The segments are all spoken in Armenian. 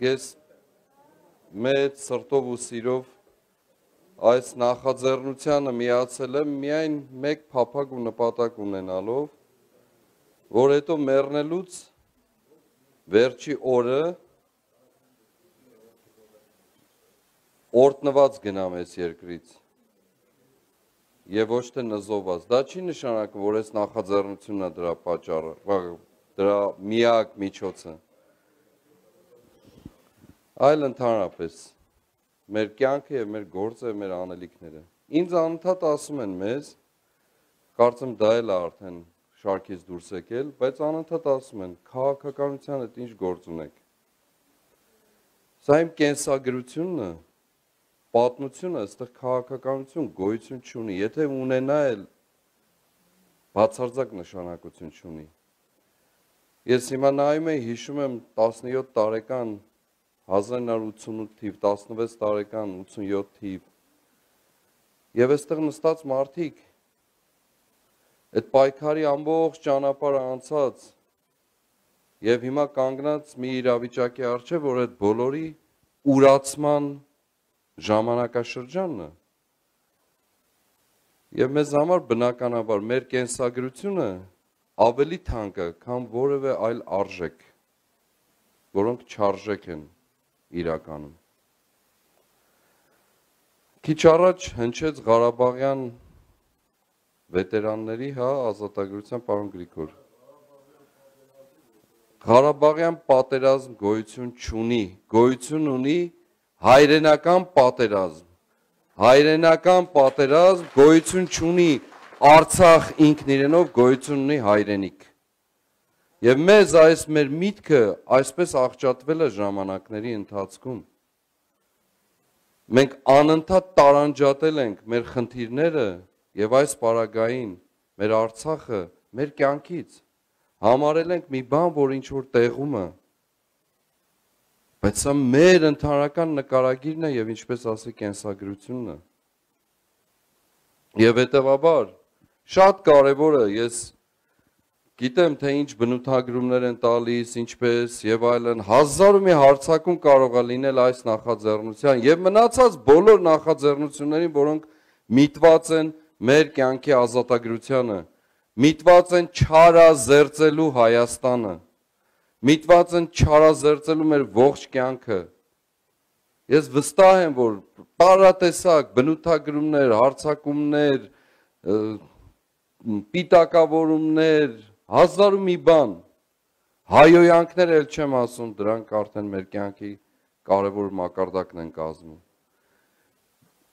Ես մեծ սրտով ու սիրով այս նախաձեռնությանը միացել եմ միայն մեկ փափագ ու նպատակ ունենալով, որ հետո մեռնելուց վերջի օրը օրտնված գնամ այս երկրից եւ ոչ թե նզոված։ Դա չի նշանակում, որ այս նախաձեռնությունն է դրա պատճառը, դրա միակ միջոցը։ Այլ ընդհանրապես մեր կյանքը եւ մեր գործը եւ մեր անելիքները։ Ինձ անընդհատ ասում են մեզ, կարծեմ դա էլ է արդեն շարքից դուրս եկել, բայց անընդհատ ասում են, քաղաքականության հետ ինչ գործ ունեք։ Սա իմ կենսագրությունն է, պատմությունը, այստեղ քաղաքականություն գոյություն չունի, եթե ունենա էլ բացարձակ նշանակություն չունի։ Ես հիմա նայում եմ, հիշում եմ 17 տարեկան 1988 թիվ, 16 տարեկան 87 թիվ, եւ այստեղ նստած մարդիկ այդ պայքարի ամբողջ ճանապարհը անցած եւ հիմա կանգնած մի իրավիճակի առջեւ, որ այդ բոլորի ուրացման ժամանակաշրջանն է։ Եվ մեզ համար բնականաբար մեր կենսագրությունը ավելի թանկ է, քան որևէ այլ արժեք, որոնք չարժեք են իրականում։ Քիչ առաջ հնչեց Ղարաբաղյան վետերանների, ազատագրության պարոն Գրիգոր։ Ղարաբաղյան պատերազմ գոյություն չունի, գոյություն ունի հայրենական պատերազմ, հայրենական պատերազմ գոյություն չունի, Արցախ ինքն իրենով գոյություն ունի հայրենիք։ Եվ մեզ այս մեր միտքը այսպես աղճատվել է ժամանակների ընթացքում։ Մենք անընդհատ տարանջատել ենք մեր խնդիրները եւ այս պարագային մեր Արցախը մեր կյանքից, համարել ենք մի բան, որ ինչ որ տեղում է։ Բայց սա մեր ընդհանրական նկարագիրն է եւ ինչպես ասի կենսագրությունն է։ Եվ հետեւաբար շատ կարեւոր է, ես գիտեմ թե ինչ բնութագրումներ են տալիս, ինչպես եւ այլն, հազար ու մի հարցակում կարող է լինել այս նախաձեռնության եւ մնացած բոլոր նախաձեռնություններին, որոնք միտված են մեր կյանքի ազատագրությանը, միտված են չարազերծելու Հայաստանը, միտված են չարազերծելու մեր ողջ կյանքը։ Ես վստահ եմ, որ տարատեսակ բնութագրումներ, հարցակումներ, պիտակավորումներ, հազար ու մի բան, հայոյանքներ էլ չեմ ասում, դրանք արդեն մեր կյանքի կարևոր մակարդակն են կազմում։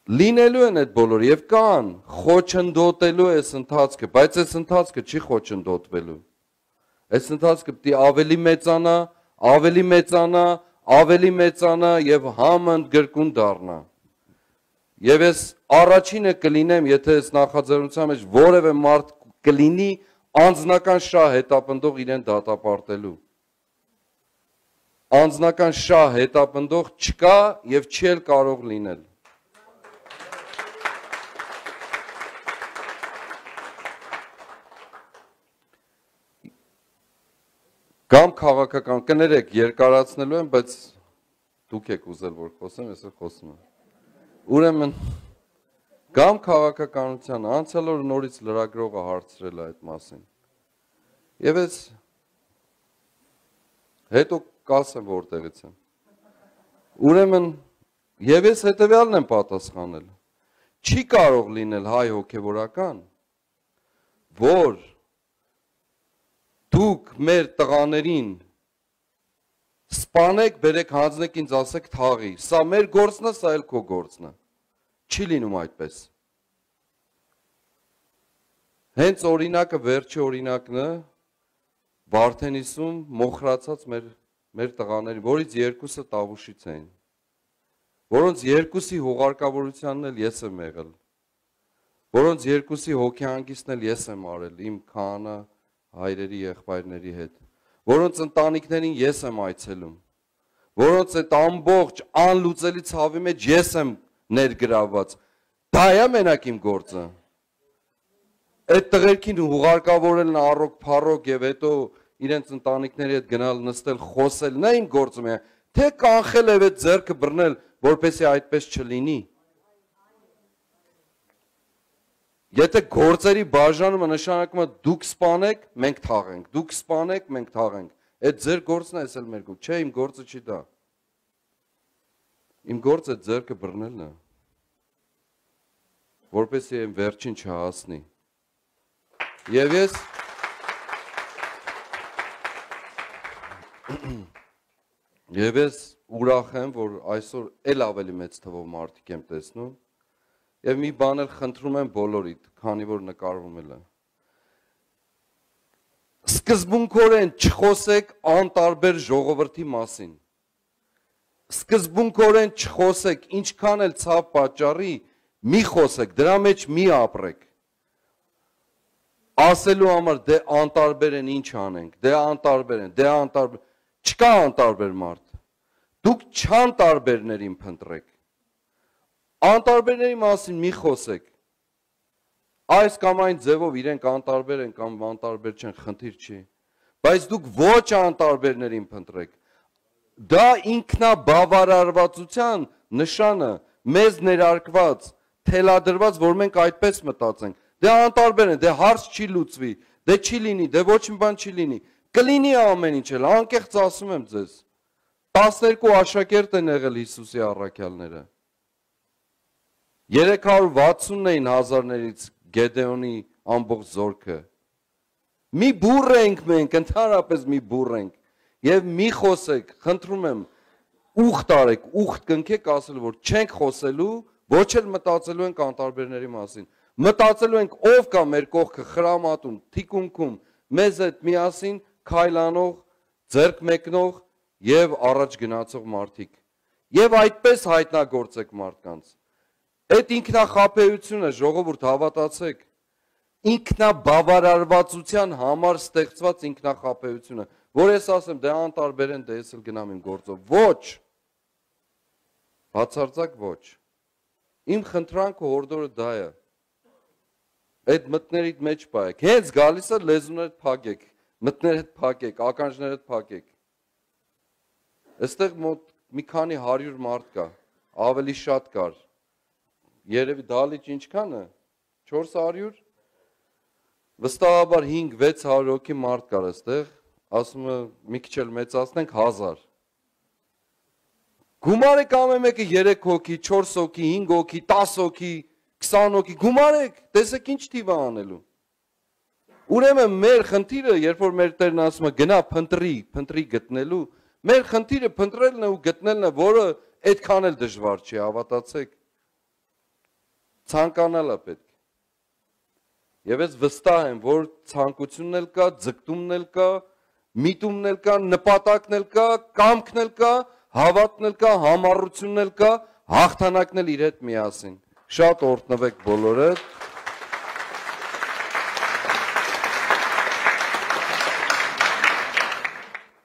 Լինելու են այդ բոլորը եւ կան, խոչընդոտելու է այս ընթացքը, բայց այս ընթացքը չի խոչընդոտվելու։ Այս ընթացքը պիտի ավելի մեծանա, ավելի մեծանա, ավելի մեծանա եւ համընդգրկուն դառնա։ Եվ ես առաջինը կլինեմ, եթե այս նախաձեռնության մեջ որևէ մարդ կլինի անձնական շահ հետապնդող իրեն դատապարտելու։ Անձնական շահ հետապնդող չկա եւ չի էլ կարող լինել։ Կամ քաղաքական, կներեք, երկարացնելու եմ, բայց դուք եք ուզել, որ խոսեմ, ես էլ խոսում եմ։ Ուրեմն, կամ քաղաքականության անցյալ օր նորից լրագրողը հարցրել է այդ մասին։ Եվ ես հետո կասեմ որտեղից եմ։ Ուրեմն, եւ ես հետեւյալն եմ պատասխանել։ Չի կարող լինել հայ հոգևորական, որ դուք մեր տղաներին սպանեք, բերեք, հանձնեք ինձ ասեք թաղի, սա մեր գործն է, սա էլ քո գործն է։ Չի լինում այդպես։ Հենց օրինակը, վերջի օրինակն է, Վարդենիսում մոխրացած մեր տղաների, որից երկուսը Տավուշից էին, որոնց երկուսի հուղարկավորությանն էլ ես եմ եղել, որոնց երկուսի հոգեհանգիստն էլ ես եմ արել, իմ քահանա հայրերի եղբայրների հետ, որոնց ընտանիքներին ես եմ այցելում, որոնց այդ ամբողջ անլուծելի ցավի մեջ ես եմ ներգրավված, դա է մենակ իմ գործը։ Այդ տղերքին հուղարկավորելն առոք փառոք եւ հետո իրենց ընտանիքների հետ գնալ նստել խոսել, նա իմ գործը է, թե կանխել է այդ ձեռքը բռնել, որպեսզի այդպես չլինի։ Եթե գործերի բաժանումը նշանակում է դուք սպանեք, մենք թաղենք, դուք սպանեք, մենք թաղենք։ Այդ ձեր գործն է, էսել մեր գործ, չէ, իմ գործը չի դա։ Իմ գործը ձեռքը բռնելն է, որպեսզի այն վերջին չհասնի։ Եվ ես ուրախ եմ, որ այսօր էլ ավելի մեծ թվով մարդիկ եմ տեսնում, եւ մի բան էլ խնդրում եմ բոլորիդ, քանի որ նկարվում է։ Սկզբունքորեն չխոսեք անտարբեր ժողովրդի մասին։ Սկզբունքորեն չխոսեք, ինչքան էլ ցավ պատճառի, մի խոսեք, դրա մեջ մի ապրեք։ Ասելու համար դե անտարբեր են, ինչ անենք, դե անտարբեր են, դե անտարբեր, չկա անտարբեր մարդ։ Դուք չանտարբերներին փնտրեք։ Անտարբերների մասին մի խոսեք։ Այս կամ այն ձևով իրենք անտարբեր են կամ անտարբեր չեն, խնդիր չի։ Բայց դուք ոչ անտարբերներին փնտրեք։ Դա ինքնաբավարարվածության նշանը, մեզ ներարկված, թելադրված, որ մենք այդպես մտածենք։ Դե անտարբեր են, դե հարց չի լուծվի, դե չի լինի, դե ոչ մի բան չի լինի։ Կլինի ամեն ինչ էլ, անկեղծ ասում եմ ձեզ։ 12 աշակերտ են եղել Հիսուսի առաքյալները։ 360-ն էին հազարներից Գեդեոնի ամբողջ զորքը։ Մի բուռ ենք մենք, ընդհանրապես մի բուռ ենք։ Եվ մի խոսեք, խնդրում եմ, ուխտ արեք, ուխտ կնքեք ասել, որ չենք խոսելու, ոչ էլ մտածելու ենք անտարբերների մասին։ Մտածելու ենք ով կա մեր կողքը խրամատում, թիկունքում, մեզ հետ միասին քայլանող, ձեռք մեկնող եւ առաջ գնացող մարդիկ։ Եվ այդպես հայտնագործեք մարդկանց։ Այդ ինքնախաբեությունը, ժողովուրդ, հավատացեք, ինքնաբավարարվածության համար ստեղծված ինքնախաբեությունը, որ ես ասեմ, դե անտարբեր են, դե ես էլ գնամ իմ գործով։ Ոչ։ Բացարձակ ոչ։ Իմ խնդրանքը հորդորը դա է։ Այդ մտներիդ մեջ պայեք։ Հենց գալիս է լեզուներդ փակեք, մտներդ փակեք, ականջներդ փակեք։ Այստեղ մոտ մի քանի 100 մարդ կա, ավելի շատ կար։ Երևի դալիճ ինչքան է? 400? Վստահաբար 5-600 հոգի մարդ կար այստեղ, ասում է մի քիչ էլ մեծացնենք 1000։ Գումարեք ամեն մեկը 3 հոգի, 4 հոգի, 5 հոգի, 10 հոգի, 20 հոգի, գումարեք, տեսեք ինչ թիվ է անելու։ Ուրեմն մեր խնդիրը, երբ որ մեր Տերն ասում է գնա փնտրի գտնելու, մեր խնդիրը փնտրելն է ու գտնելն է, որը այդքան էլ դժվար չի, հավատացեք։ Ցանկանալ է պետք։ Եվ ես վստահ եմ, որ ցանկությունն էլ կա, ձգտումն էլ կա, միտումն էլ կա, նպատակն էլ կա, կամքն էլ կա, հավատն էլ կա, համառությունն էլ կա, հաղթանակն էլ իր հետ միասին։ Շատ օրհնվեք բոլորը։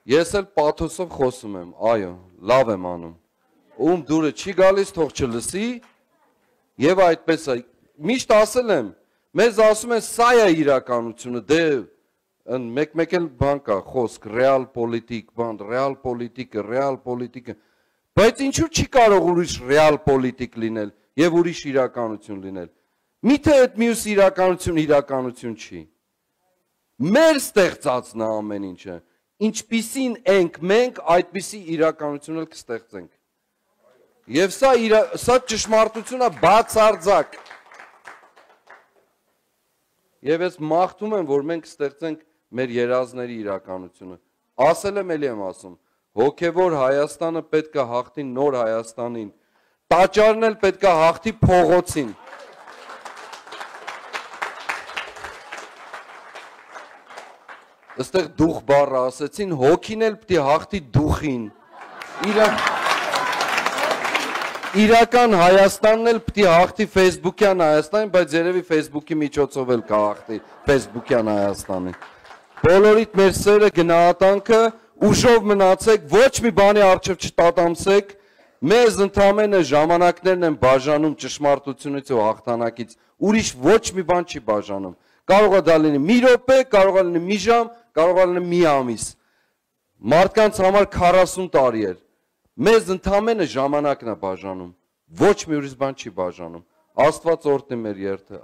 Ես էլ պաթոսով խոսում եմ, այո, լավ եմ անում։ Ում դուրը չի գալիս, թող չլսի, եւ այդպես է։ Միշտ ասել եմ, մեզ ասում են սա է իրականությունը, դե մեկ էլ բան կա, խոսք, ռեալ պոլիտիկ, բան, ռեալ պոլիտիկը, բայց ինչու չի կարող ուրիշ ռեալ պոլիտիկ լինել եւ ուրիշ իրականություն լինել։ Միթե այդ մյուս իրականություն չի։ Մեր ստեղծածն է ամեն ինչը։ Ինչպիսին ենք մենք, այդպիսի իրականություն էլ կստեղծենք։ Եվ սա ճշմարտություն է բացարձակ։ Եվ ես մաղթում եմ, որ մենք ստեղծենք մեր երազների իրականությունը։ Ասել եմ, էլի եմ ասում, հոգևոր Հայաստանը պետք է հաղթի նոր Հայաստանին, տաճարն էլ պետք է հաղթի փողոցին։ Այստեղ դուխ բառը ասեցին, հոգին էլ պետք է հաղթի դուխին։ Իրական Հայաստանն էլ պետք է հաղթի Facebook-յան Հայաստանին, բայց երևի Facebook-ի միջոցով էլ կհաղթի Facebook-յան Հայաստանին։ Բոլորիդ մեր սերը, գնահատանքը, ուժով մնացեք, ոչ մի բանի առջև չտատամսեք, մեզ ընդամենը ժամանակներն են բաժանում ճշմարտությունից ու հաղթանակից, ուրիշ ոչ մի բան չի բաժանում։ Կարող է դա լինի մի րոպե, կարող է լինի մի ժամ, կարող է լինի մի ամիս։ Մարդկանց համար 40 տարի էր։ Մեզ ընդամենը ժամանակն է բաժանում, ոչ մի ուրիշ բան չի բաժանում։ Աստված օրհնի մեր երթը։